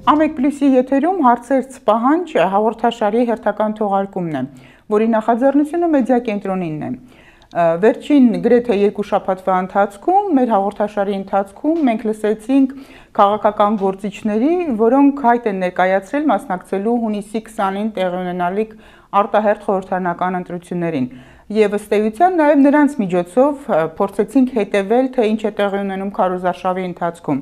Ամեկ+-ի եթերում հարցերց պահանջ հաղորդաշարի հերթական թողարկումն է, որի նախաձեռնությունը մեդիա կենտրոնինն է։ Վերջին գրեթե 2 շաբաթվա ընթացքում մեր հաղորդաշարի ընթացքում մենք լսեցինք քաղաքական գործիչների, որոնք հայտ են ներկայացրել մասնակցելու հունիսի 20-ին տեղի ունենալիք արտահերթ խորհրդարանական ընտրություններին։ Եվ ըստ էության նաև նրանց միջոցով փորձեցինք հետևել, թե ինչ է տեղի ունենում քարոզարշավի ընթացքում։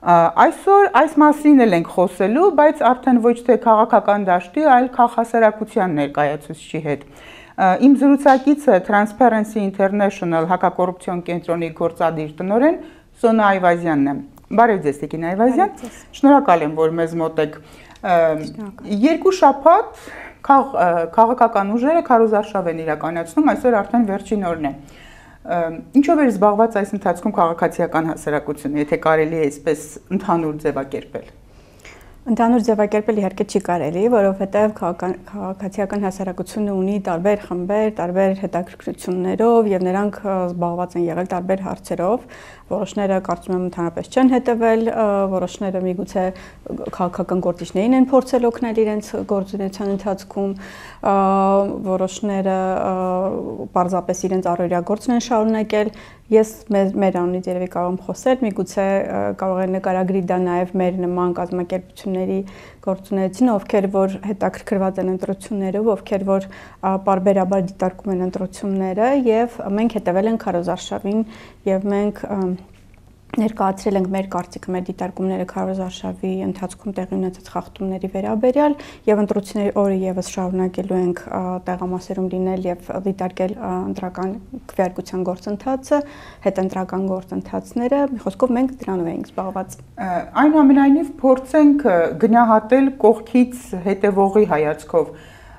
Այսօր այս մասին էլ ենք խոսելու, բայց արդեն ոչ թե քաղաքական դաշտի, այլ քաղաքասարակության ներկայացուցչի հետ։ Իմ զրուցակիցը Transparency International հակակոռուպցիոն կենտրոնի գործադիր տնօրեն Սոնա Այվազյանն է։ Բարև ձեզ, Տիկին Այվազյան։ Շնորհակալ եմ, որ մեզ մոտ եք։ 2 շաբաթ քաղաքական ուժերը քարոզարշավ են իրականացնում, այսօր արդեն վերջին օրն է։ Ինչով էր զբաղված այս ընթացքում քաղաքացիական հասարակությունը, եթե կարելի է այսպես ընդհանուր ձևակերպել։ Ընդհանուր ձևակերպել իհարկե չի կարելի, որովհետև քաղաքացիական հասարակությունը ունի տարբեր խմբեր, տարբեր հետաքրքրություններով եւ նրանք զբաղված են եղել տարբեր հարցերով, որոշները կարծում եմ ընդհանրապես չեն հետևել, որոշները միգուցե քաղաքական գործիչներին են փորձել օգնել իրենց գործունեության ընթացքում, որոշները պարզապես իրենց առօրյա գործն են շարունակել։ Ես մեր անունից երևի կարող եմ խոսել, միգուցե կարող է նկարագրի դա նաև մեր նման կազմակերպությունների գործունեությունը, ովքեր որ հետաքրքրված են ընտրություններով, ովքեր որ պարբերաբար դիտարկում են ընտրությունները եւ մենք հետևել ենք քարոզարշավին եւ մենք ներկայացրել ենք մեր կարծիքը, մեր դիտարկումները քարոզարշավի ընթացքում տեղի ունեցած խախտումների վերաբերյալ եւ ընտրությունների օրը եւս շարունակելու ենք տեղամասերում լինել եւ դիտարկել ընտրական քվեարկության գործընթացը, հետընտրական գործընթացները, մի խոսքով մենք դրանով ենք զբաղված։ Այնուամենայնիվ փորձենք գնահատել կողքից հետևողի հայացքով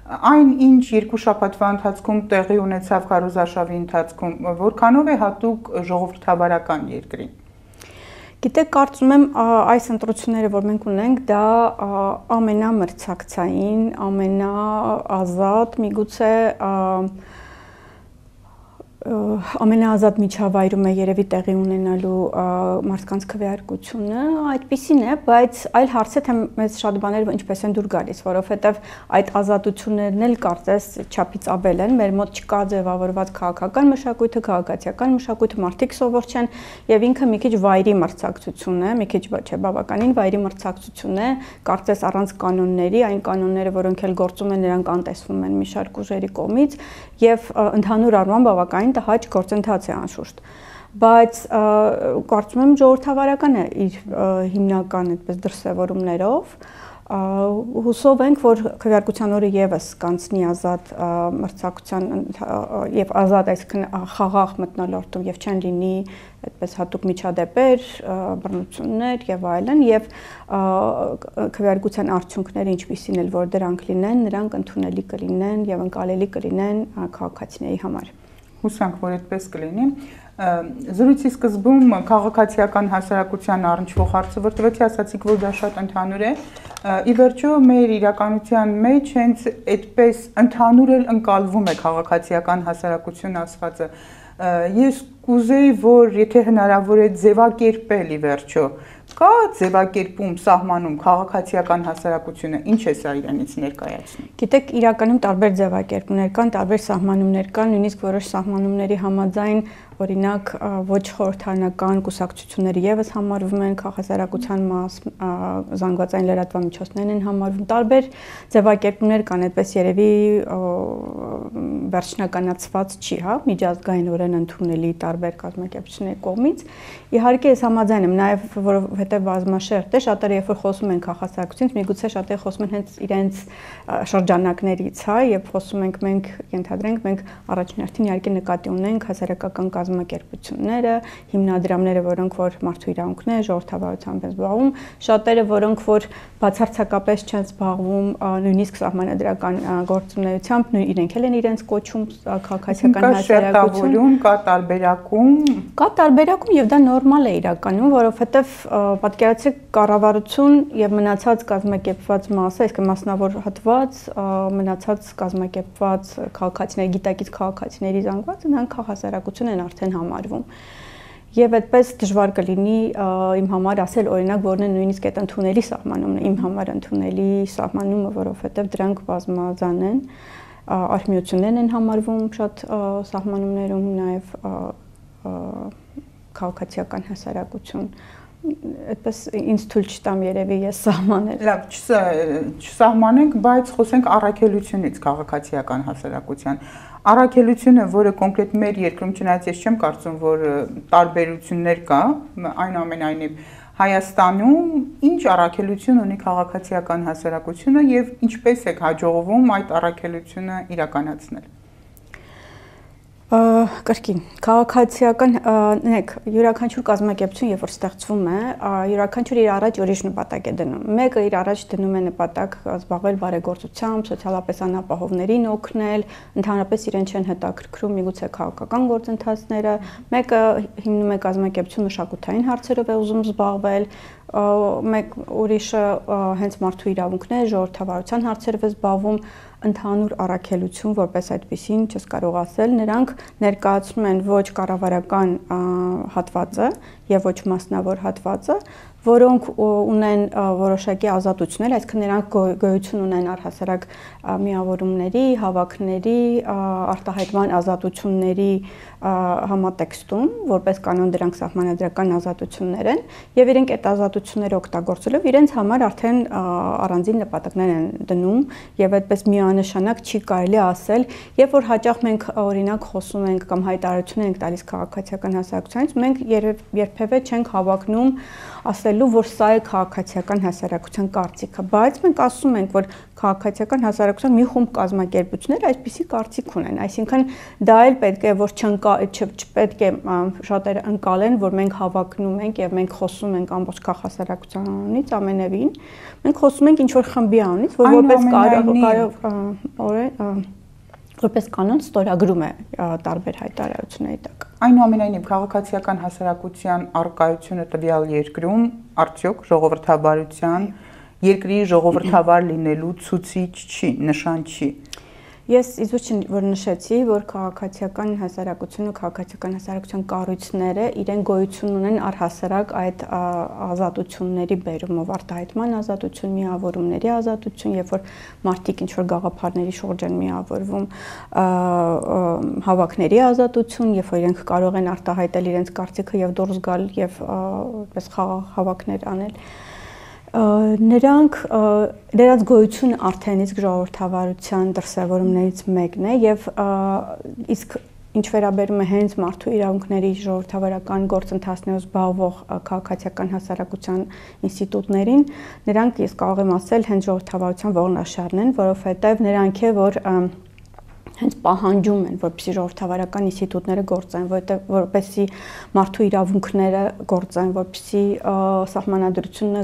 այն ինչ 2 շաբաթվա ընթացքում տեղի ունեցավ քարոզարշավի ընթացքում, որքանով է հատուկ ժողովրդավարական երկրին։ Գիտեք, կարծում եմ այս ընտրությունները, որ մենք ունենք, դա ամենամրցակցային, ամենաազատ, միգուցե ամենաազատ միջավայրում է երևի տեղի ունենալու մարդկանց քվեարկությունը, այդպիսին է, բայց այլ հարց է, թե մեզ շատ բաներ ինչպես են դուր գալիս, որովհետև այդ ազատություններն էլ կարծես չափից ավել են, մեր մոտ չկա ձևավորված քաղաքական մշակույթը, քաղաքացիական մշակույթը, մարդիկ սովոր չեն եւ ինքը մի քիչ վայրի մրցակցություն է, մի քիչ չէ, բավականին վայրի մրցակցություն է, կարծես առանց կանոնների, այն կանոնները, որոնք էլ գործում են, նրանք անտեսվում են մի շարք ուժերի կողմից եւ ընդհանուր առմամբ բավականին հաճ գործընթաց է անշուշտ, բայց կարծում եմ ժողովրդավարական է իր հիմնական այդպես դրսևորումներով, հուսով ենք, որ քվեարկության օրը եւս կանցնի ազատ մրցակցության եւ ազատ այսքան խաղաղ մթնոլորտում եւ չեն լինի այդպես հատուկ միջադեպեր, բռնություններ եւ այլն եւ քվեարկության արդյունքները ինչպիսին էլ որ դրանք լինեն, նրանք ընդունելի կլինեն եւ ընկալելի կլինեն քաղաքացիների համար։ Հուսանք, որ այդպես կլինի։ Զրույցի սկզբում քաղաքացիական հասարակության առնչվող հարցը վրդվեցի, ասացիք, որ դա շատ ընդհանուր է։ Ի վերջո մեր իրականության մեջ հենց այդպես ընդհանուր էլ ընկալվում է քաղաքացիական հասարակություն ասվածը։ Ես կուզեի, որ եթե հնարավոր է ձևակերպել ի վերջո, կա ձևակերպում սահմանում քաղաքացիական հասարակությունը, ինչ է սա իրենից ներկայացնում։ Գիտեք, իրականում տարբեր ձևակերպումներ կան, տարբեր սահմանումներ կան, նույնիսկ որոշ սահմանումների համաձայն օրինակ ոչ խորհրդարանական կուսակցությունները եւս համարվում են քաղաքասարակության մաս, զանգվածային լրատվամիջոցներն են համարվում, տարբեր ձևակերպումներ կան, այդպես երևի վերջնականացված չի, հա, միջազգայինորեն ընդունելի տարբեր կազմակերպությունների կողմից։ Իհարկե ես համաձայն եմ, նաեւ որովհետեւ բազմաշերտ է, շատերը երբ որ խոսում են քաղաքասարակությունից, միգուցե շատերը խոսում են հենց իրենց շրջանակներից, հա, եւ խոսում ենք մենք, ենթադրենք, մենք առաջին հերթին իհարկե նկատի ունենք հասարակական կազմակերպությունները, հիմնադրամները, որոնք որ մարդու իրավունքներ, ժողովրդավարությամբ են զբաղվում, շատերը, որոնք որ բացարձակապես չեն զբաղվում նույնիսկ սահմանադրական գործունեությամբ, իրենք էլ են իրենց կոչում քաղաքացիական հասարակություն, կա տարբերակում։ Կա տարբերակում եւ դա նորմալ է իրականում, որովհետեւ պատկերացրեք կառավարություն եւ մնացած կազմակերպված մասը, այսինքն մասնավոր հատված, մնացած կազմակերպված քաղաքացիների, գիտակից քաղաքացիների զանգվածը, նրանք քաղաքասարակություն են արդեն համարվում։ Եվ այդպես դժվար կլինի իմ համար ասել օրինակ որն է նույնիսկ այդ ընդունելի սահմանումն է իմ համար ընդունելի սահմանումը, որովհետև դրանք բազմազան են, արհմիություններն են համարվում շատ սահմանումներում, նաև քաղաքացիական հասարակություն, այդպես ինձ թույլ չտամ երևի ես սահմանել։ Լավ, չսահմանենք, բայց խոսենք առաքելությունից քաղաքացիական հասարակության։ Առաքելությունը, որը կոնկրետ մեր երկրում, չնայած ես չեմ կարծում, որ տարբերություններ կա, այնուամենայնիվ Հայաստանում ինչ առաքելություն ունի քաղաքացիական հասարակությունը եւ ինչպես է հաջողվում այդ առաքելությունը իրականացնել։ Կրկին քաղաքացիական նեք յուրաքանչյուր կազմակերպություն երբ որ ստեղծվում է յուրաքանչյուր իր առաջ ուրիշ նպատակ է դնում մեկը իր առաջ դնում է նպատակ զբաղվել բարեգործությամբ սոցիալապես անապահովներին օգնել ընդհանրապես իրեն չեն հետաքրքրում միգուցե քաղաքական գործընթացները մեկը հիմնում է կազմակերպություն մշակութային հարցերով է ուզում զբաղվել մեկ ուրիշը հենց մարդու իրավունքներ ժողովրդավարության հարցերով է զբաղվում ընդհանուր առաքելություն որպես այդպեսին չես կարող ասել նրանք ներկայացնում են ոչ կառավարական հատվածը եւ ոչ մասնավոր հատվածը որոնք ունեն որոշակի ազատություններ, այսինքն նրանք գոյություն ունեն առհասարակ միավորումների, հավաքների, արտահայտման ազատությունների համատեքստում, որպես կանոն դրանք սահմանադրական ազատություններ են, եւ իրենք այդ ազատությունները օգտագործելով իրենց համար արդեն առանձին նպատակներ են դնում եւ այդպես միանշանակ չի կարելի ասել, երբ որ հաճախ մենք օրինակ խոսում ենք կամ հայտարարություն ենք տալիս քաղաքացիական հասարակությունից, մենք երբևէ չենք հավակնում ասելու, որ սա է քաղաքացիական հասարակության կարծիքը, բայց մենք ասում ենք, որ քաղաքացիական հասարակության մի խումբ կազմակերպություններ այսպիսի կարծիք ունեն, այսինքն դա էլ պետք է որ չպետք է շատերը ընկալեն, որ մենք հավակնում ենք եւ մենք խոսում ենք ամբողջ քաղաքասարակությունից ամենևին, մենք խոսում ենք ինչ որ խմբի անունից, որ որպես կանոն ստորագրում է տարբեր հայտարարությունների տակ։ Այնուամենայնիվ քաղաքացիական հասարակության առկայությունը տվյալ երկրում արդյոք ժողովրդավարության երկրի ժողովրդավար լինելու ցուցիչ չի, նշան չի։ Ես իզուր որ նշեցի, որ քաղաքացիական հասարակությունը, քաղաքացիական հասարակության կառույցները իրեն գոյություն ունեն առհասարակ այդ ազատությունների բերումով, արտահայտման ազատություն, միավորումների ազատություն, երբ որ մարդիկ ինչ որ գաղափարների շուրջ են միավորվում, հավաքների ազատություն, երբ որ իրենք կարող են արտահայտել իրենց կարծիքը եւ դուրս գալ եւ այդպես հավաքներ անել։ Նրանք դրանց գոյությունը արդեն իսկ ժողովրդավարության դրսևորումներից մեկն է եւ իսկ ինչ վերաբերում է հենց մարդու իրավունքների ժողովրդավարական գործընթացներով զբաղվող քաղաքացիական հասարակության ինստիտուտներին, նրանք ես կարող եմ ասել հենց ժողովրդավարության ողնաշարն են, որովհետեւ նրանք է որ հենց պահանջում են, որպեսզի ժողովրդավարական ինստիտուտները գործեն, որպեսզի մարդու իրավունքները գործեն, որպեսզի սահմանադրությունը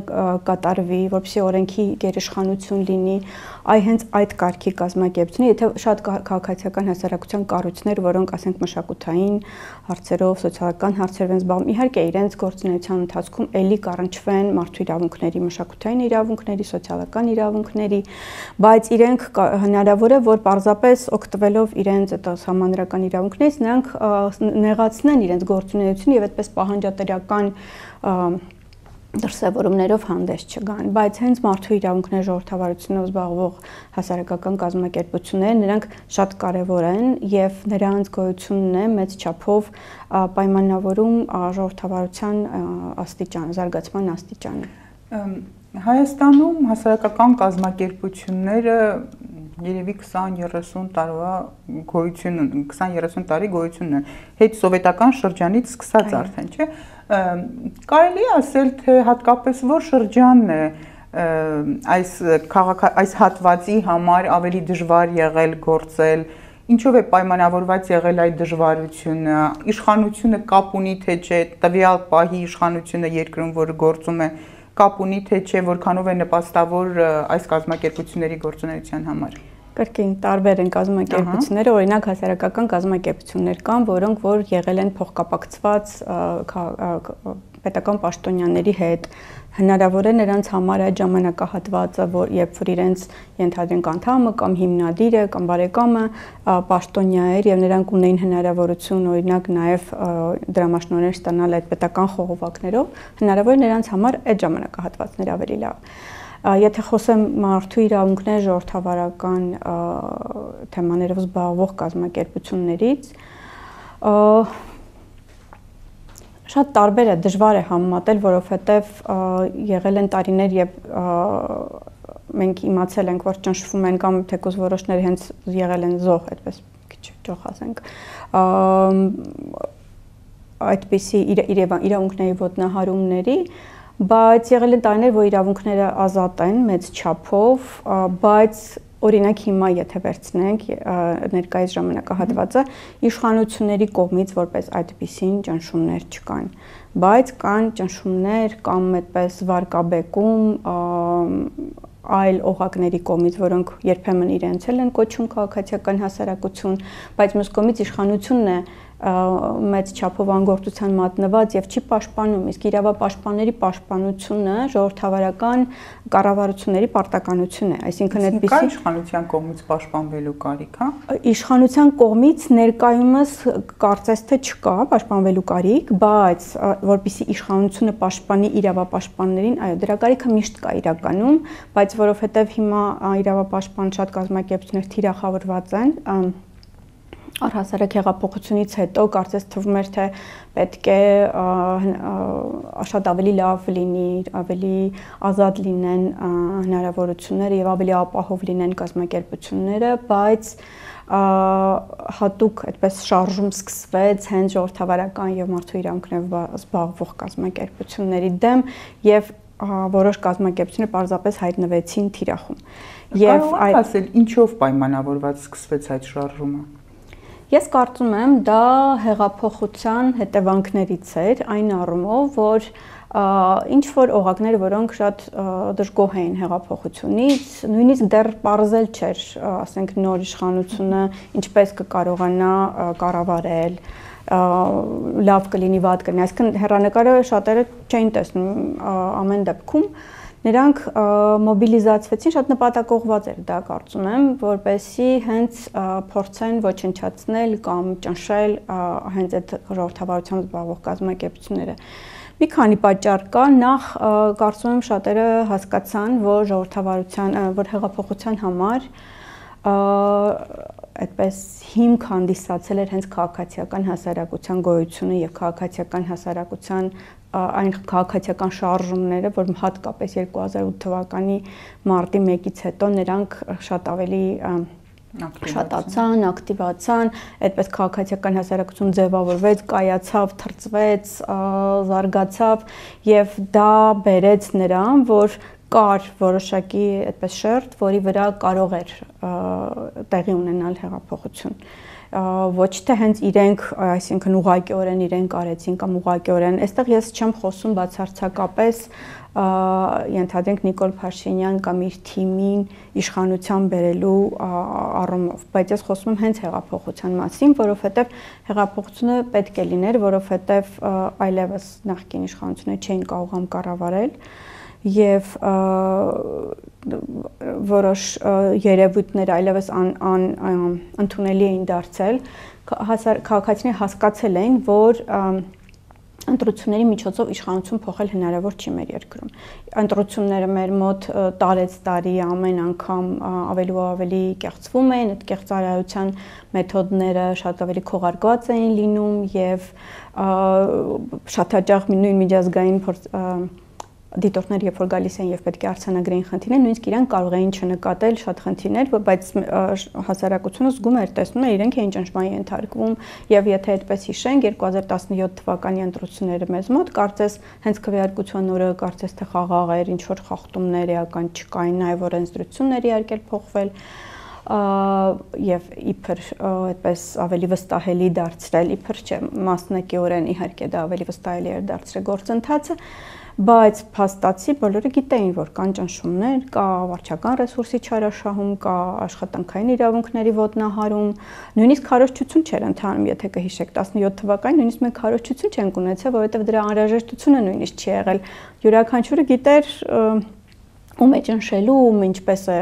կատարվի, որպեսզի օրենքի գերիշխանություն լինի, հենց այդ կարգի կազմակերպությունը, եթե շատ քաղաքացիական հասարակության կառույցներ, որոնք ասենք մշակութային հարցերով, սոցիալական հարցերով են զբաղվում, իհարկե իրենց գործունեության ընթացքում էլի կառնչվեն մարդու իրավունքների, մշակութային իրավունքների, սոցիալական իրավունքների, բայց իրենք հնարավոր է, որ պարզապես օգտվելով իրենց այդ սահմանադրական իրավունքներից նրանք նեղացնեն իրենց գործունեությունը եւ այդպես պահանջատերական դրսևորումներով հանդես չգան, բայց հենց մարդու իրավունքների ժողովրդավարությունով զբաղվող հասարակական կազմակերպությունները նրանք շատ կարևոր են եւ նրանց գոյությունն է մեծ չափով պայմանավորում ժողովրդավարության աստիճանը, զարգացման աստիճանը։ Հայաստանում հասարակական կազմակերպությունները երևի 20-30 տարվա գոյություն ունեն, 20-30 տարի գոյություն ունեն, հետ սովետական շրջանից սկսած արդեն, չէ՞։ Կարելի է ասել, թե հատկապես որ շրջանն է այս հատվածի համար ավելի դժվար եղել գործել, ինչով է պայմանավորված եղել այդ դժվարությունը, իշխանությունը կապ ունի թե չէ, տվյալ պահի իշխանությունը երկրում, որը գործում է, կապ ունի թե չէ, որքանով է նպաստավոր այս կազմակերպությունների գործունեության համար։ Կրկին տարբեր են կազմակերպությունները, օրինակ հասարակական կազմակերպություններ կան, որոնք որ եղել են փոխկապակցված պետական պաշտոնյաների հետ հնարավոր է նրանց համար այդ ժամանակահատվածը, երբ որ իրենց ենթադրենք անդամը կամ հիմնադիրը կամ բարեկամը պաշտոնյա էր եւ նրանք ունեին հնարավորություն օրինակ նաեւ դրամաշնորհներ ստանալ այդ պետական խողովակներով, հնարավոր է նրանց համար այդ ժամանակահատվածները ավելի լավ։ Եթե խոսեմ մարդու իրավունքներ ժողովրդավարական թեմաներով զբաղվող կազմակերպություններից, շատ տարբեր է, դժվար է համեմատել, որովհետև եղել են տարիներ, երբ մենք իմացել ենք, որ ճնշվում են կամ թեկուզ որոշները հենց եղել են զոհ, այդպես քիչ ճոխ ասենք, այդպիսի իրավունքների ոտնահարումների, բայց եղել են տարիներ, որ իրավունքները ազատ են մեծ չափով, բայց օրինակ հիմա եթե վերցնենք ներկայիս ժամանակահատվածը իշխանությունների կողմից որպես այդպիսին ճնշումներ չկան, բայց կան ճնշումներ կամ այդպես վարկաբեկում այլ օղակների կողմից, որոնք երբեմն իրենց էլ են կոչում քաղաքացիական հասարակություն, բայց մյուս կողմից իշխանությունն է մեծ չափով անգործության մատնված եւ չի պաշտպանում, իսկ իրավապաշտպանների պաշտպանությունը ժողովրդավարական կառավարությունների պարտականություն է, այսինքն այդպիսի իշխանության կողմից պաշտպանվելու կարիք, հա? Իշխանության կողմից ներկայումս կարծես թե չկա պաշտպանվելու կարիք, բայց որպեսզի իշխանությունը պաշտպանի իրավապաշտպաններին, այո, դրա կարիքը միշտ կա իրականում, բայց որովհետեւ հիմա իրավապաշտպան շատ կազմակերպություններ թիրախավորված են առհասարակ հեղափոխությունից հետո կարծես թվում էր թե պետք է շատ ավելի լավ լինի, ավելի ազատ լինեն հնարավորությունները եւ ավելի ապահով լինեն կազմակերպությունները, բայց հատուկ այդպես շարժում սկսվեց հենց ժողովրդավարական եւ մարդու իրավունքներով զբաղվող կազմակերպությունների դեմ եւ որոշ կազմակերպություններ պարզապես հայտնվեցին թիրախում։ Եվ այդ ասել ինչով պայմանավորված սկսվեց այդ շարժումը։ Ես կարծում եմ դա հեղափոխության հետևանքներից էր այն առումով, որ ինչ որ օղակներ, որոնք շատ դժգոհ էին հեղափոխությունից, նույնիսկ դեռ պարզել չէր, ասենք նոր իշխանությունը ինչպես կկարողանա կառավարել, լավ կլինի, վատ կլինի, այսինքն հեռանկարը շատերը չէին տեսնում ամեն դեպքում Նրանք մոբիլիզացվեցին, շատ նպատակողված էր դա կարծում եմ, որպեսզի հենց փորձեն ոչնչացնել կամ ճնշել հենց այդ ժողովրդավարությամբ զբաղվող կազմակերպությունները։ Մի քանի պատճառ կա, նախ կարծում եմ շատերը հասկացան, որ որ հեղափոխության համար այդպես հիմք հանդիսացել էր հենց քաղաքացիական հասարակության գոյությունը եւ քաղաքացիական հասարակության այն քաղաքացիական շարժումները, որ հատկապես 2008 թվականի մարտի 1-ից հետո նրանք շատ ավելի շատացան, ակտիվացան, այդպես քաղաքացիական հասարակություն ձևավորվեց, կայացավ, թրծվեց, զարգացավ եւ դա բերեց նրան, որ կար որոշակի այդպես շերտ, որի վրա կարող էր տեղի ունենալ հեղափոխություն։ Ոչ թե հենց իրենք, այսինքն ուղղակիորեն իրենք արեցին կամ ուղղակիորեն, այստեղ ես չեմ խոսում բացարձակապես ենթադրենք Նիկոլ Փաշինյան կամ իր թիմին իշխանության բերելու առումով, բայց ես խոսում եմ հենց հեղափոխության մասին, որովհետև հեղափոխությունը պետք է լիներ, որովհետև այլևս նախկին իշխանությունները չէին կարողանում կառավարել եւ որոշ երևույթներ այլևս ընդունելի էին դարձել, քաղաքացիները հասկացել էին, որ ընտրությունների միջոցով իշխանություն փոխել հնարավոր չի մեր երկրում։ Ընտրությունները մեր մոտ տարեց տարի ամեն անգամ ավելի ու ավելի կեղծվում էին, այդ կեղծարարության մեթոդները շատ ավելի քողարկված էին լինում եւ շատ հաճախ նույն միջազգային դիտորդներ երբ որ գալիս են եւ պետք է արձանագրեին խնդիրներ, նույնիսկ իրենք կարող էին չնկատել շատ խնդիրներ, բայց հասարակությունը զգում էր, տեսնում էր, իրենք էին ճնշմանի ենթարկվում եւ եթե այդպես հիշենք 2017 թվականի ընտրությունները մեզ մոտ, կարծես հենց քվեարկության օրը կարծես թե խաղաղ էր, ինչ որ խախտումներ էական չկային, նաեւ օրենսդրություններ իհարկե փոխվել, եւ իբր այդպես ավելի վստահելի դարձրել, իբր չէ, մասնակիորեն իհարկե դա ավելի վստահելի էր դարձրել գործընթացը, բայց փաստացի բոլորը գիտեին, որ կան ճնշումներ, կա վարչական ռեսուրսի չարաշահում, կա աշխատանքային իրավունքների ոտնահարում, նույնիսկ քարոզչություն չէր ընթանում, եթե կհիշեք 17 թվականին նույնիսկ մենք քարոզչություն չենք ունեցել, որովհետև դրա անհրաժեշտությունը նույնիսկ չի եղել։ Յուրաքանչյուրը գիտեր ում է ճնշելու, ում ինչպես է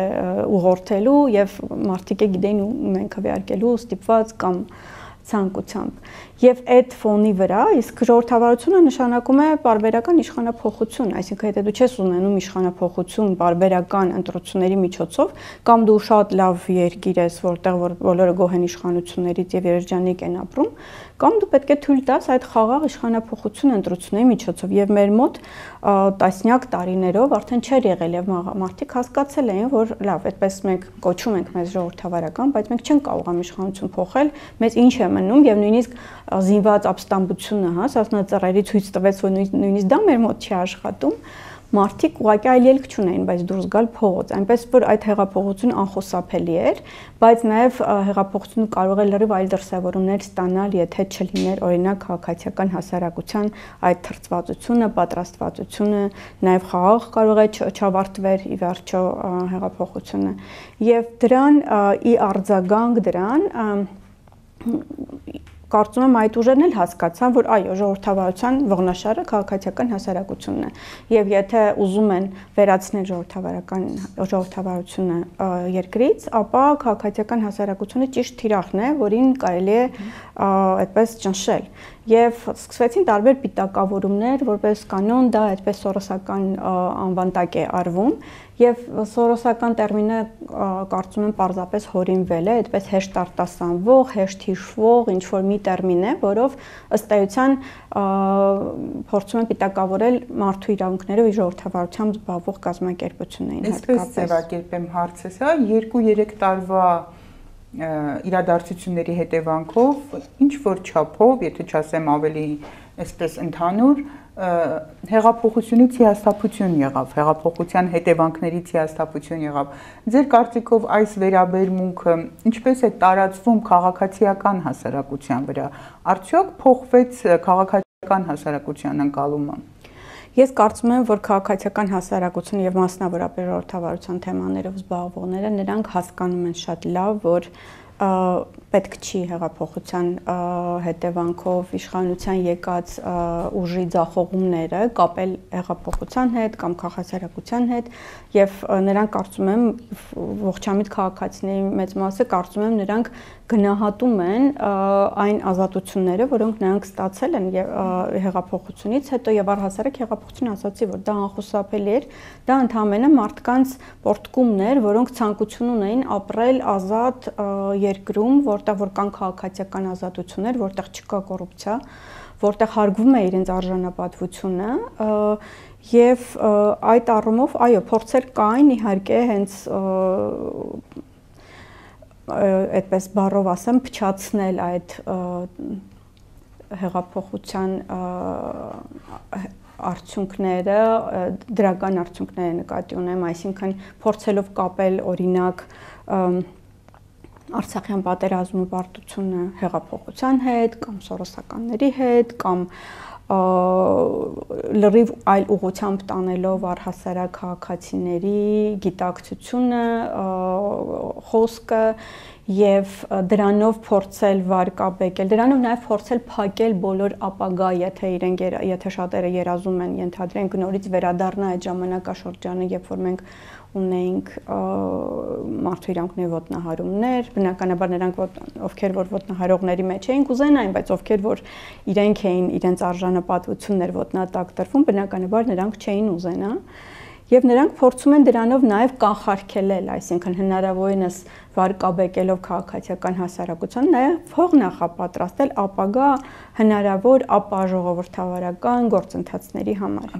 ուղղորդելու եւ մարդիկ գիտեին ում են քվեարկելու, ստիպված կամ ցանկությամբ։ Եվ այդ ֆոնի վրա իսկ ժողովրդավարությունը նշանակում է պարբերական իշխանափոխություն, այսինքն եթե դու չես ունենում իշխանափոխություն պարբերական ընտրությունների միջոցով, կամ դու շատ լավ երկիր ես, որտեղ որ բոլորը գոհ են իշխանություններից եւ երջանիկ են ապրում, կամ դու պետք է թույլ տաս այդ խաղաղ իշխանափոխությունը ընտրությունների միջոցով եւ մեր մոտ տասնյակ տարիներով արդեն չէր եղել եւ մարդիկ հասկացել էին, որ լավ, այդպես մենք կոչում ենք մեզ ժողովրդավարական, բայց մենք չենք կարող ամիշխանություն փոխել, մեզ ինչ է մնում եւ նույնիսկ զինված ապստամբությունը, հա, սասնածռերի ցույց տվեց, որ նույնիսկ դա մեր մոտ չի աշխատում, մարդիկ ուղղակի այլ ելք չունեին, բայց դուրս գալ փողոց, այնպես որ այդ հեղափոխությունը անխուսափելի էր, բայց նաև հեղափոխությունը կարող է լրիվ այլ դրսևորումներ ստանալ, եթե չլիներ օրինակ քաղաքացիական հասարակության այդ թրծվածությունը, պատրաստվածությունը, նաև խաղաղ կարող է չավարտվեր ի վերջո հեղափոխությունը, եւ դրան ի արձագանք դրան կարծում եմ այդ ուժերն էլ հասկացան, որ այո, ժողովրդավարության ողնաշարը քաղաքացիական հասարակությունն է։ Եվ եթե ուզում են վերացնել ժողովրդավարությունը երկրից, ապա քաղաքացիական հասարակությունը ճիշտ թիրախն է, որին կարելի է այդպես ճնշել։ Եվ սկսվեցին տարբեր պիտակավորումներ, որպես կանոն դա այդպես սորոսական անվանտակ է արվում, եւ սորոսական տերմինը կարծում եմ պարզապես հորինվել է, այդպես հեշտ արտասանվող, հեշտ հիշվող, ինչ որ մի տերմին է, որով ըստ էության փորձում են պիտակավորել մարդու իրավունքներով իր ժողովրդավարությամբ զբաղվող կազմակերպություններին հատկապես։ Այսպես ձևակերպեմ հարցս, հա, 2-3 տարվա իրադարձությունների հետևանքով ինչ որ չափով, եթե չասեմ ավելի այսպես ընդհանուր, հեղափոխությունից հիասթափություն եղավ, հեղափոխության հետևանքներից հիասթափություն եղավ։ Ձեր կարծիքով այս վերաբերմունքը ինչպես է տարածվում քաղաքացիական հասարակության վրա, արդյոք փոխվեց քաղաքացիական հասարակության ընկալումը։ Ես կարծում եմ, որ քաղաքացիական հասարակությունը եւ մասնավորապես ժողովրդավարության թեմաներով զբաղվողները նրանք հասկանում են շատ լավ, որ պետք չի հեղափոխության հետևանքով իշխանության եկած ուժի ձախողումները կապել հեղափոխության հետ կամ քաղաքացիական հետ եւ նրանք կարծում եմ ողջամիտ քաղաքացիների մեծ մասը կարծում եմ նրանք գնահատում են այն ազատությունները, որոնք նրանք ստացել են հեղափոխությունից հետո եւ առհասարակ հեղափոխությունը ասացի, որ դա անխուսափելի էր, դա ընդհանրապես մարդկանց պորտկումն էր, որոնք ցանկություն ունեին ապրել ազատ երկրում, որտեղ որ կան քաղաքացիական ազատություններ, որտեղ չկա կոռուպցիա, որտեղ հարգվում է իրենց արժանապատվությունը եւ այդ առումով այո, փորձեր կային իհարկե հենց այդպես բառով ասեմ, փչացնել այդ հեղափոխության արդյունքները, դրական արդյունքները նկատի ունեմ, այսինքն փորձելով կապել օրինակ Արցախյան պատերազմի պարտությունը հեղափոխության հետ կամ սորոսականների հետ կամ լրիվ այլ ուղղությամբ տանելով առհասարակ քաղաքացիների գիտակցությունը, խոսքը եւ դրանով փորձել վարկաբեկել, դրանով նաեւ փորձել փակել բոլոր ապագա, եթե շատերը երազում են ենթադրենք նորից վերադառնա այդ ժամանակաշրջանը, երբ որ մենք ունեինք մարդու իրավունքների ոտնահարումներ, բնականաբար նրանք ովքեր որ ոտնահարողների մեջ էին կուզենային, բայց ովքեր որ իրենք էին իրենց արժանապատվություններ ոտնատակ տրվում, բնականաբար նրանք չէին ուզենա եւ նրանք փորձում են դրանով նաեւ կանխարգելել, այսինքն հնարավորինս վարկաբեկելով քաղաքացիական հասարակության նաեւ փող նախապատրաստել ապագա հնարավոր ապաժողովրդավարական գործընթացների համար։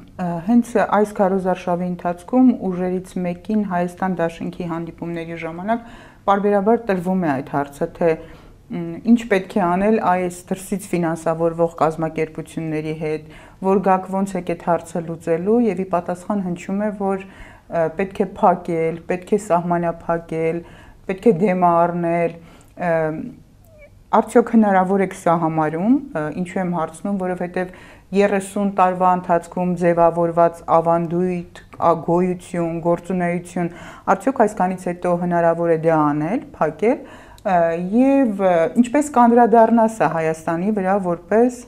Հենց այս քարոզարշավի ընթացքում ուժերից մեկին Հայաստան Դաշնքի հանդիպումների ժամանակ պարբերաբար տրվում է այդ հարցը, թե ինչ պետք է անել այս դրսից ֆինանսավորվող կազմակերպությունների հետ, որ գաք ոնց եք այդ հարցը լուծելու եւ ի պատասխան հնչում է, որ պետք է փակել, պետք է սահմանափակել, պետք է դեմ առնել, արդյոք հնարավոր է սա համարում, ինչու եմ հարցնում, որովհետև 30 տարվա ընթացքում ձևավորված ավանդույթ, գոյություն, գործունեություն, արդյոք այսքանից հետո հնարավոր է դա անել, փակել եւ ինչպես կանդրադառնա սա Հայաստանի վրա որպես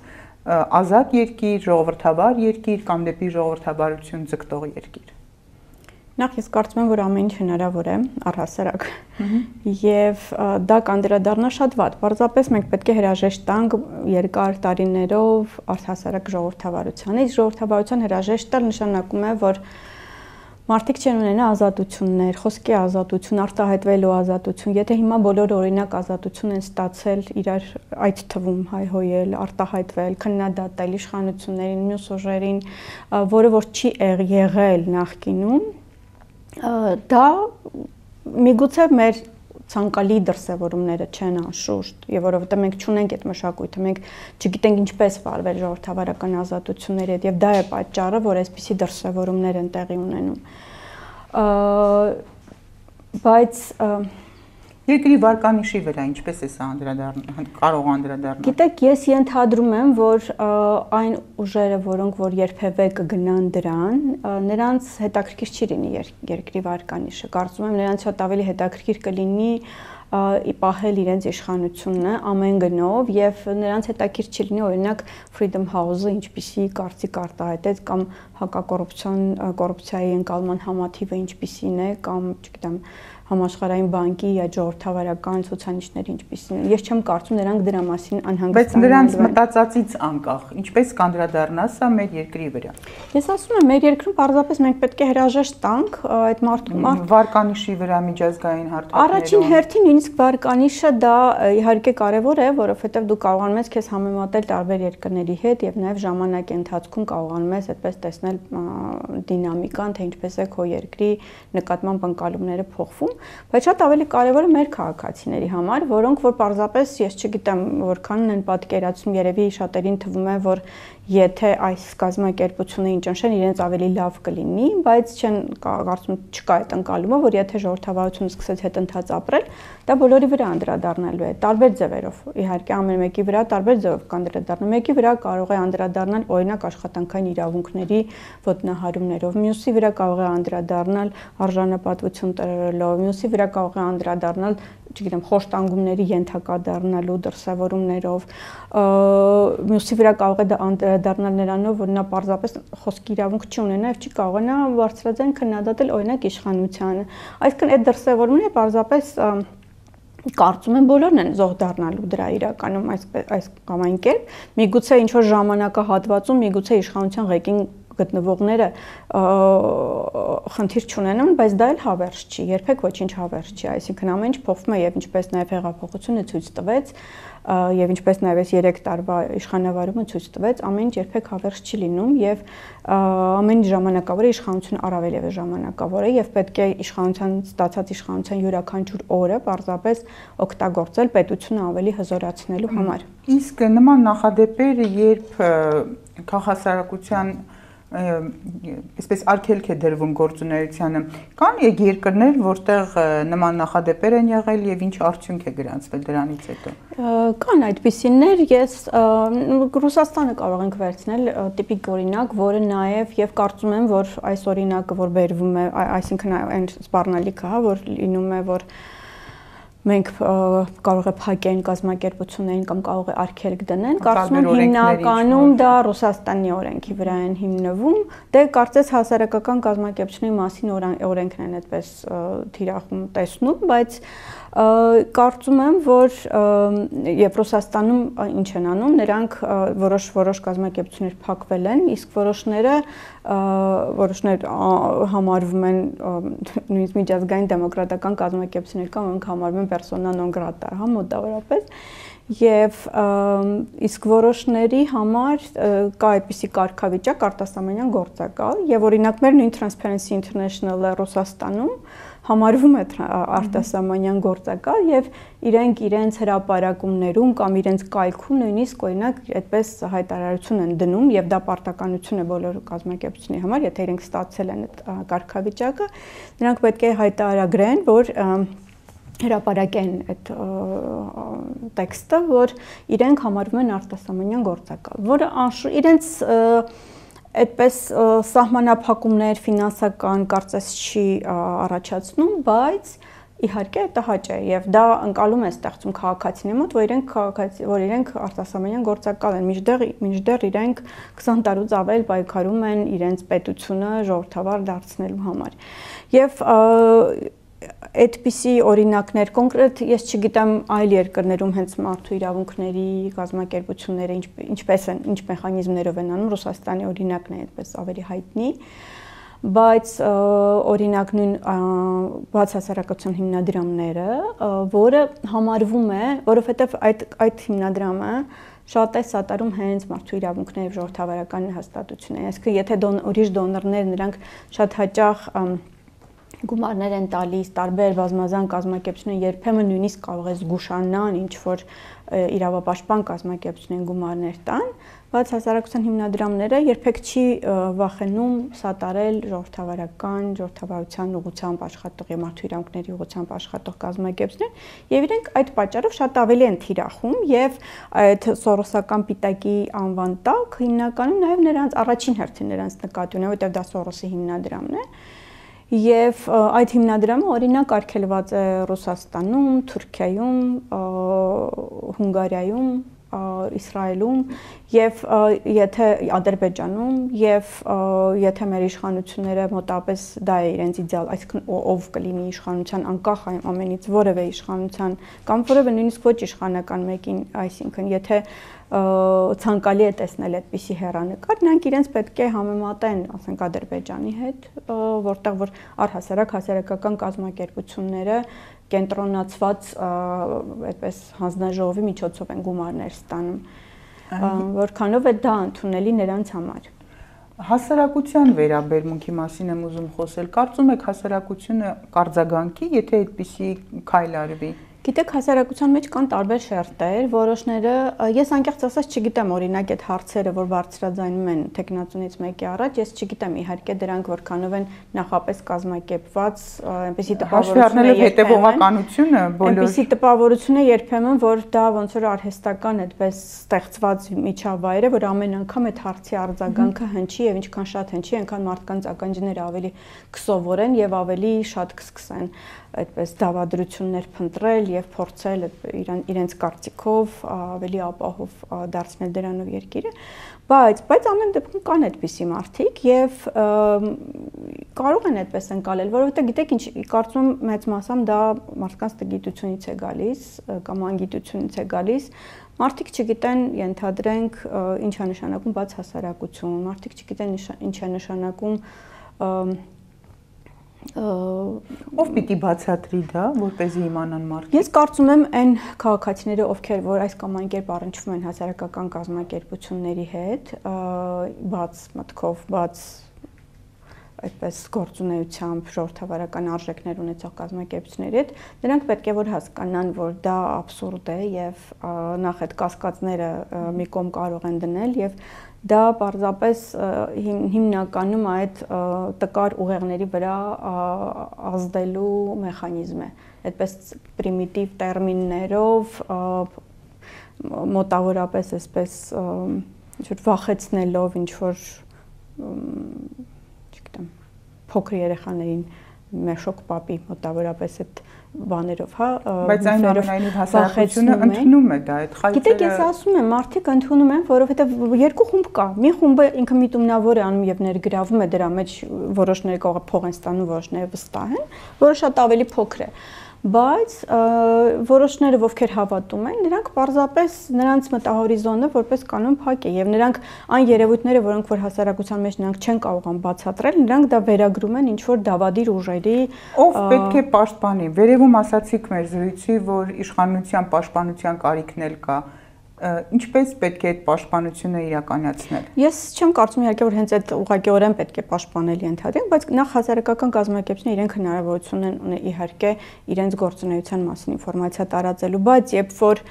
ազատ երկիր, ժողովրդավար երկիր կամ դեպի ժողովրդավարություն ձգտող երկիր։ Նախ ես կարծում եմ, որ ամեն ինչ հնարավոր է առհասարակ եւ դա կանդրադառնա շատ վատ։ Պարզապես մենք պետք է հրաժեշտ տանք երկար տարիներով առհասարակ ժողովրդավարության։ Իսկ ժողովրդավարության հրաժեշտ տալ նշանակում է, որ մարդիկ չեն ունենա ազատություններ, խոսքի ազատություն, արտահայտվելու ազատություն։ Եթե հիմա բոլորը օրինակ ազատություն են ստացել իրար այդ թվում հայհոյել, արտահայտվել, քննադատել իշխանություններին, մյուս ուժերին, որը որ չի եղել նախկինում, դա միգուցե մեր ցանկալի դրսևորումները չեն անշուշտ, եւ որովհետեւ մենք չունենք այդ մշակույթը, մենք չգիտենք ինչպես վարվել ժողովրդավարական ազատությունների հետ, եւ դա է պատճառը, որ այսպիսի դրսևորումներ են տեղի ունենում։ Բայց երկրի վարկանիշի վրա ինչպես է սա կարող անդրադառնալ։ Գիտեք, ես ենթադրում եմ, որ այն ուժերը, որոնք որ երբևէ կգնան դրան, նրանց հետաքրքիր չի լինի երկրի վարկանիշը։ Կարծում եմ, նրանց շատ ավելի հետաքրքիր կլինի պահել իրենց իշխանությունը ամեն գնով եւ նրանց հետաքրքիր չի լինի օրինակ Freedom House-ը ինչպիսի կարծիք արտահայտեց կամ կոռուպցիայի ընկալման համաթիվը ինչպիսին է կամ չգիտեմ համաշխարհային բանկի ժողովրդավարական ցուցանիշները ինչպիսին են։ Ես չեմ կարծում նրանք դրա մասին անհանգստանալու են։ Բայց նրանց մտածածից անկախ, ինչպես կանդրադառնա սա մեր երկրի վրա։ Ես ասում եմ, մեր երկրում պարզապես մենք պետք է հրաժեշտ տանք այդ վարկանիշի վրա միջազգային հարթակներում։ Առաջին հերթին նույնիսկ վարկանիշը դա իհարկե կարևոր է, որովհետև դու կարողանում ես քեզ համեմատել տարբեր երկրների հետ եւ նաեւ ժամանակի ընթացքում կարողանում ես այդպես տեսնել դինամիկան, թե ինչպես է քո երկրի նկատմամբ ընկալումները փոխվում, բայց շատ ավելի կարևոր է մեր քաղաքացիների համար, որոնք որ պարզապես ես չգիտեմ որքանն են պատկերացնում, երևի շատերին թվում է, որ եթե այս կազմակերպությունը ճնշեն իրենց ավելի լավ կլինի, բայց չեն կարծում չկա այդ ընկալումը, որ եթե ժողովրդավարությունը սկսեց հետընթաց ապրել, դա բոլորի վրա անդրադառնալու է, տարբեր ձևերով։ Իհարկե ամեն մեկի վրա տարբեր ձևով կանդրադառնա։ Մեկի վրա կարող է անդրադառնալ օրինակ աշխատանքային իրավունքների ոտնահարումներով, մյուսի վրա կարող է անդրադառնալ արժանապատվություն տրելով, մյուսի վրա կարող է անդրադառնալ, չգիտեմ, խոշտանգումների ենթակա դառնալու դրսևորումներով, մյուսի վրա կարող է դա անդրադառնալ նրանով, որ նա պարզապես խոսքի իրավունք չի ունենա եւ չի կարողանա բարձրաձայն քննադատել օրինակ իշխանությանը։ Այսինքն այդ դրսևորումները պարզապես կարծում եմ բոլորն են զոհ դառնալու դրա իրականում այս կամ այն կերպ, միգուցե ինչ որ ժամանակահատվածում, միգուցե իշխանության ղեկին գտնվողները խնդիր չունենան, բայց դա էլ հավերժ չի, երբեք ոչինչ հավերժ չի, այսինքն ամեն ինչ փոխվում է եւ ինչպես նաեւ հեղափոխությունը ցույց տվեց եւ ինչպես նաեւ այս 3 տարվա իշխանավարումը ցույց տվեց, ամեն ինչ երբեք հավերժ չի լինում եւ ամեն ժամանակավոր է, իշխանությունը առավել եւս ժամանակավոր է եւ պետք է իշխանության ստացած իշխանության յուրաքանչյուր օրը պարզապես օգտագործել պետությունը ավելի հզորացնելու համար։ Իսկ նման նախադեպերը, երբ քաղաքասարակության այսպես արգելք է դրվում գործունեությանը, կան երկրներ, որտեղ նման նախադեպեր են եղել եւ ինչ արդյունք է գրանցվել դրանից հետո։ Կան այդպիսիներ, ես Ռուսաստանը կարող ենք վերցնել տիպիկ օրինակ, որը նաեւ եւ կարծում եմ, որ այս օրինակը, որ բերվում է, այսինքն այն սպառնալիքը, որ լինում է, որ մենք կարող է փակեն կազմակերպություններին կամ կարող է արգելք դնեն, կարծում եմ հիմնականում դա Ռուսաստանի օրենքի վրա են հիմնվում, դե կարծես հասարակական կազմակերպությունների մասին օրենքն են այդպես թիրախում տեսնում, բայց կարծում եմ, որ եւ Ռուսաստանում ինչ են անում, նրանք որոշ կազմակերպություններ փակվել են, իսկ որոշներ համարվում են նույնիսկ միջազգային դեմոկրատական կազմակերպություններ կամ որոնք համարվում են persona non grata, հա, մոտավորապես, եւ իսկ որոշների համար կա այդպիսի կարգավիճակ արտասահմանյան գործակալ եւ օրինակ մեր նույն Transparency International-ը Ռուսաստանում համարվում է արտասահմանյան գործակալ եւ իրենք իրենց հրապարակումներում կամ իրենց կայքում նույնիսկ օրինակ այդպես հայտարարություն են դնում եւ դա պարտականություն է բոլոր կազմակերպությունների համար, եթե իրենք ստացել են այդ կարգավիճակը, նրանք պետք է հայտարարագրեն, որ հրապարակեն այդ տեքստը, որ իրենք համարվում են արտասահմանյան գործակալ, որը իրենց այդպես սահմանափակումներ ֆինանսական կարծես չի առաջացնում, բայց իհարկե դա հաճ է եւ դա ընկալում է ստեղծում քաղաքացիների մոտ, որ իրենք արտասահմանյան գործակալ են, մինչդեռ իրենք 20 տարուց ավել պայքարում են իրենց պետությունը ժողովրդավար դարձնելու համար։ Եւ այդպիսի օրինակներ կոնկրետ ես չգիտեմ այլ երկրներում հենց մարդու իրավունքների կազմակերպությունները ինչ մեխանիզմներով են անում, Ռուսաստանի օրինակն է այդպես ավելի հայտնի, բայց օրինակ նույն բաց հասարակության հիմնադրամները, որը համարվում է, որովհետև այդ հիմնադրամը շատ է սատարում հենց մարդու իրավունքների եւ ժողովրդավարական հաստատությունները, այսինքն եթե ուրիշ դոնորներ նրանք շատ հաճախ գումարներ են տալիս տարբեր բազմազան կազմակերպություններ, երբեմն նույնիսկ կարող է զգուշանան ինչ որ իրավապաշտպան կազմակերպություններին գումարներ տան, բայց հասարակության հիմնադրամները երբեք չի վախենում սատարել ժողովրդավարության ուղղությամբ աշխատող եւ մարդու իրավունքների ուղղությամբ աշխատող կազմակերպություններ, եւ իրենք այդ պատճառով շատ ավելի են թիրախում եւ այդ սորոսական պիտակի անվան տակ հիմնականում նաեւ նրանց առաջին հերթին նրանց նկատի ունեն, որտեղ դա Սորոսի հիմնադրամն է։ Եվ այդ հիմնադրամը օրինակ արգելված է Ռուսաստանում, Թուրքիայում, Հունգարիայում, Իսրայելում եւ եթե Ադրբեջանում եւ եթե մեր իշխանությունները մոտապես դա է իրենց իդեալ, այսինքն ով կլինի իշխանության անկախ ամենից որևէ իշխանության կամ որևէ նույնիսկ ոչ իշխանական մեկին, այսինքն եթե ցանկալի է տեսնել այդպիսի հեռանկար, նրանք իրենց պետք է համեմատեն, ասենք Ադրբեջանի հետ, որտեղ որ առհասարակ հասարակական կազմակերպությունները կենտրոնացված այդպես հանձնաժողովի միջոցով են գումարներ ստանում, որքանով է դա ընդունելի նրանց համար։ Հասարակության վերաբերմունքի մասին եմ ուզում խոսել, կարծում եք հասարակությունը կարձագանքի, եթե այդպիսի քայլ արվի։ Գիտեք, հասարակության մեջ կան տարբեր շերտեր, որոշները, ես անկեղծ ասած չգիտեմ օրինակ այդ հարցերը, որ բարձրաձայնում են տեխնացունից մեկի առաջ, ես չգիտեմ իհարկե դրանք որքանով են նախապես կազմակերպված, այնպեսի տպավորություն է երբեմն, որ դա ոնց որ արհեստական այդպես ստեղծված միջավայր է, որ ամեն անգամ այդ հարցի արձագանքը հնչի եւ ինչքան շատ հնչի, այնքան մարդկանց ականջները ավելի կսովորեն եւ ավելի շատ կսկսեն այդպես դավադրություններ փնտրել եւ փորձել իրենց կարծիքով ավելի ապահով դարձնել դրանով երկիրը, բայց ամեն դեպքում կան այդպիսի մարդիկ եւ կարող են այդպես ընկալել, որովհետեւ գիտեք ինչ, կարծում եմ մեծ մասամբ դա մարդկանց տգիտությունից է գալիս կամ անգիտությունից է գալիս, մարդիկ չգիտեն, ենթադրենք, ինչ է նշանակում բաց հասարակություն, մարդիկ չգիտեն ինչ է նշանակում Ով պիտի բացատրի դա, որպեսզի իմանան մարդիկ։ Ես կարծում եմ այն քաղաքացիները, ովքեր որ այս կամ այն կերպ առնչվում են հասարակական կազմակերպությունների հետ, բաց մտքով, բաց այդպես գործունեությամբ ժողովրդավարական արժեքներ ունեցող կազմակերպությունների հետ, նրանք պետք է որ հասկանան, որ դա աբսուրդ է եւ նախ այդ կասկածները մի կողմ կարող են դնել եւ դա պարզապես հիմնականում այդ տկար ուղեղների վրա ազդելու մեխանիզմ է, այդպես պրիմիտիվ տերմիններով մոտավորապես այսպես ինչ-որ վախեցնելով ինչ-որ չգիտեմ փոքր երեխաներին մեշոկ պապի մոտավորապես այդ բաներով, հա, բայց այնուամենայնիվ հասարակությունը ընդունում է դա այդ խայծերը։ Գիտեք, ես ասում եմ, մարդիկ ընդունում են, որովհետև երկու խումբ կա։ Մի խումբը ինքը միտումնավոր է անում եւ ներգրավում է դրա մեջ, որոշները կարող փող են ստանում, որոշները վստահ են, որը շատ ավելի փոքր է։ Բայց որոշները ովքեր հավատում են, նրանք պարզապես նրանց մտահորիզոնը որպես կանոն փակ է եւ նրանք այն երևույթները, որոնք որ հասարակության մեջ նրանք չեն կարողան բացատրել, նրանք դա վերագրում են ինչ որ դավադիր ուժերի։ Ով պետք է պաշտպանի։ Վերևում ասացիք մեր զրույցի, որ իշխանության պաշտպանության կարիքն էլ կա։ Ինչպես պետք է այդ պաշտպանությունը իրականացնել։ Ես չեմ կարծում իհարկե որ հենց այդ ուղղակիորեն պետք է պաշտպանել ենթադրենք, բայց նախ հասարակական կազմակերպությունները իրենք հնարավորություն ունեն իհարկե իրենց գործունեության մասին ինֆորմացիա տարածելու, բայց երբ որ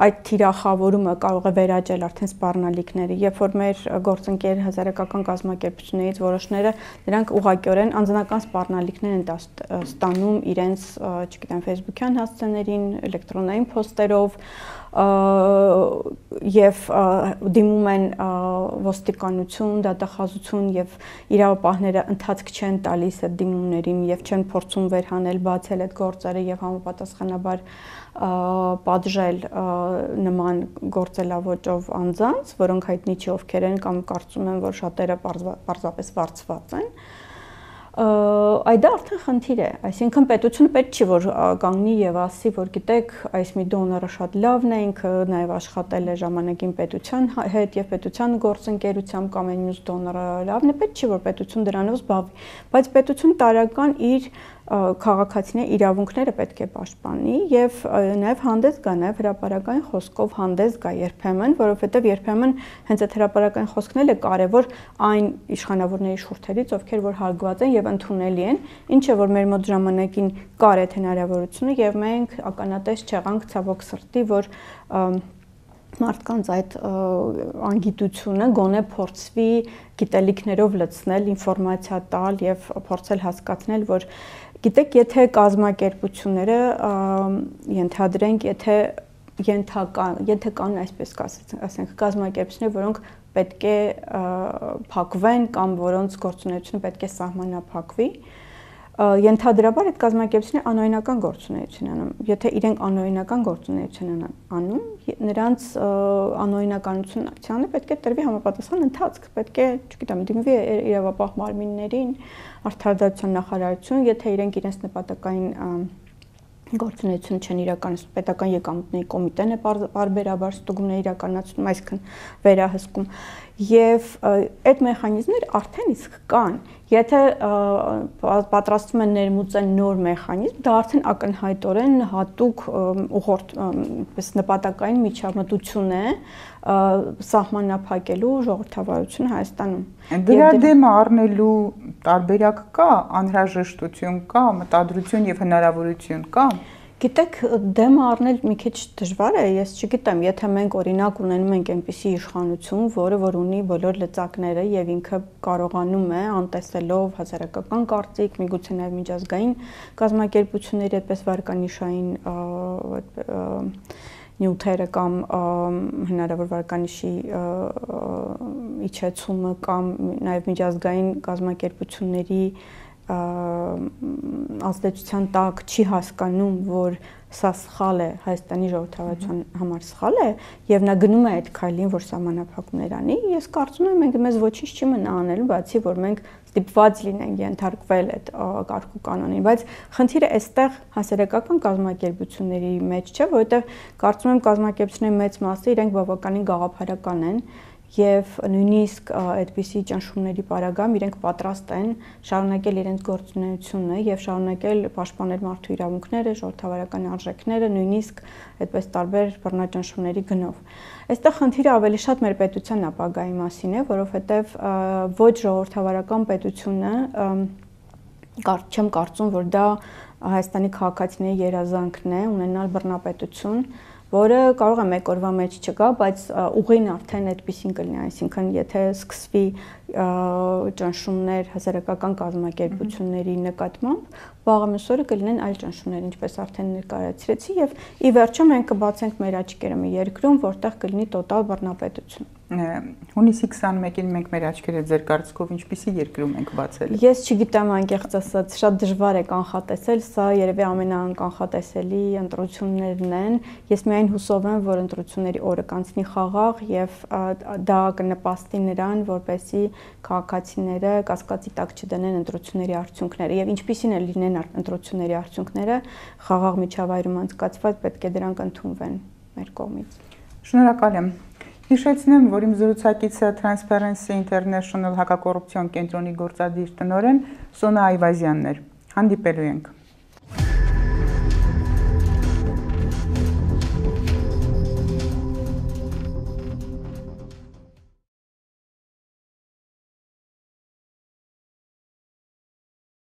այդ թիրախավորումը կարող է վերաճել արդեն սպառնալիքների, երբ որ մեր գործընկեր հասարակական կազմակերպություններից որոշները նրանք ուղղակիորեն անձնական սպառնալիքներ են ստանում իրենց, չգիտեմ, Facebook-յան հասցեներին, էլեկտրոնային փոստերով եւ դիմում են ոստիկանություն, դատախազություն եւ իրավապահները ընթացք չեն տալիս այդ դիմումներին եւ չեն փորձում վերհանել, բացել այդ գործերը եւ համապատասխանաբար պատժել նման գործելավոճով անձանց, որոնք հայտնի չի ովքեր են կամ կարծում են, որ շատերը պարզապես վարձված են։ Այդ դա արդեն խնդիր է, այսինքն պետությունը պետք չի որ կանգնի եւ ասի, որ գիտեք, այս մի դոնորը շատ լավն է, ինքը նաեւ աշխատել է ժամանակին պետության հետ եւ պետության գործընկերությամբ կամ այն մյուս դոնորը լավն է, պետք չի որ պետություն դրանով զբաղվի, բայց պետություն տարական իր քաղաքացիների իրավունքները պետք է պաշտպանի եւ նաեւ հանդես գա, նաեւ հրապարակային խոսքով հանդես գա երբեմն, որովհետեւ երբեմն հենց այդ հրապարակային խոսքն էլ է կարեւոր այն իշխանավորների շուրթերից, ովքեր որ հարգված են եւ ընդունելի են, ինչը որ մեր մոտ ժամանակին կար այդ հնարավորությունը եւ մենք ականատես չեղանք ցավոք սրտի, որ մարդկանց այդ անգիտությունը գոնե փորձվի գիտելիքներով լցնել, ինֆորմացիա տալ եւ փորձել հասկացնել, որ գիտեք, եթե կազմակերպությունները ենթադրենք, եթե կան այսպես ասենք կազմակերպություններ, որոնք պետք է փակվեն կամ որոնց գործունեությունը պետք է սահմանափակվի, ենթադրաբար այդ կազմակերպությունները անօրինական գործունեություն են անում։ Եթե իրենք անօրինական գործունեություն են անում, նրանց անօրինականությունը պետք է տրվի համապատասխան ընթացք, պետք է, չգիտեմ, դիմվի իրավապահ մարմիններին, արդարադատության նախարարություն, եթե իրենք իրենց նպատակային գործունեություն չեն իրականացնում, պետական եկամուտների կոմիտեն է պարբերաբար ստուգումներ իրականացնում, այսինքն վերահսկում եւ այդ մեխանիզմներ արդեն իսկ կան։ Եթե պատրաստվում են ներմուծել նոր մեխանիզմ, դա արդեն ակնհայտորեն հատուկ ուղղորդ նպատակային միջամտություն է սահմանափակելու ժողովրդավարությունը Հայաստանում։ Դրա դեմ առնելու տարբերակ կա, անհրաժեշտություն կա, մտադրություն եւ հնարավորություն կա։ Գիտեք, դեմ առնել մի քիչ դժվար է, ես չգիտեմ, եթե մենք օրինակ ունենում ենք այնպիսի իշխանություն, որը որ ունի բոլոր լծակները եւ ինքը կարողանում է անտեսելով հասարակական կարծիք, միգուցե նաեւ միջազգային կազմակերպությունների այդպես վարկանիշային նյութերը կամ հնարավոր վարկանիշի իջեցումը կամ նաեւ միջազգային կազմակերպությունների ազդեցության տակ չի հասկանում, որ սա սխալ է, Հայաստանի ժողովրդավարության համար սխալ է եւ նա գնում է այդ քայլին, որ սահմանափակումներ անի, ես կարծում եմ մենք մեզ ոչինչ չի մնա անելու, բացի որ մենք ստիպված լինենք ենթարկվել այդ կարգ ու կանոնին, բայց խնդիրը այստեղ հասարակական կազմակերպությունների մեջ չէ, որովհետեւ կարծում եմ կազմակերպությունների մեծ մասը իրենք բավականին գաղափարական են եւ նույնիսկ այդպիսի ճնշումների պարագայում իրենք պատրաստ են շարունակել իրենց գործունեությունը եւ շարունակել պաշտպանել մարդու իրավունքները, ժողովրդավարական արժեքները, նույնիսկ այդպես տարբեր բռնաճնշումների գնով։ Այստեղ խնդիրը ավելի շատ մեր պետության ապագայի մասին է, որովհետեւ ոչ ժողովրդավարական պետությունը չեմ կարծում, որ դա Հայաստանի քաղաքացիների երազանքն է ունենալ բռնապետություն, որը կարող է մեկ օրվա մեջ չգա, բայց ուղին արդեն այդպեսին կլինի, այսինքն եթե սկսվի ճնշումներ հասարակական կազմակերպությունների նկատմամբ, վաղը մյուս օրը կլինեն այլ ճնշումներ, ինչպես արդեն ներկայացրեցի, եւ ի վերջո մենք կբացենք մեր աչքերը մի երկրում, որտեղ կլինի տոտալ բռնապետություն։ Հունիսի 21-ին մենք մեր աչքերը ձեր կարծիքով ինչպիսի երկրում ենք բացել։ Ես չգիտեմ, անկեղծ ասած, շատ դժվար է կանխատեսել, սա երևի ամենաանկանխատեսելի ընտրություններն են։ Ես միայն հուսով եմ, որ ընտրությունների օրը կանցնի խաղաղ եւ դա կնպաստի նրան, որպեսզի քաղաքացիները կասկածի տակ չդնեն ընտրությունների արդյունքները եւ ինչպիսին է լինեն ընտրությունների արդյունքները խաղաղ միջավայրում անցկացված, պետք է դրանք ընդունվեն մեր կողմից։ Շնորհակալ եմ։ Հիշեցնեմ, որ իմ զրուցակիցը Transparency International հակակոռուպցիոն կենտրոնի գործադիր տնօրեն Սոնա Այվազյանն էր։ Հանդիպելու ենք։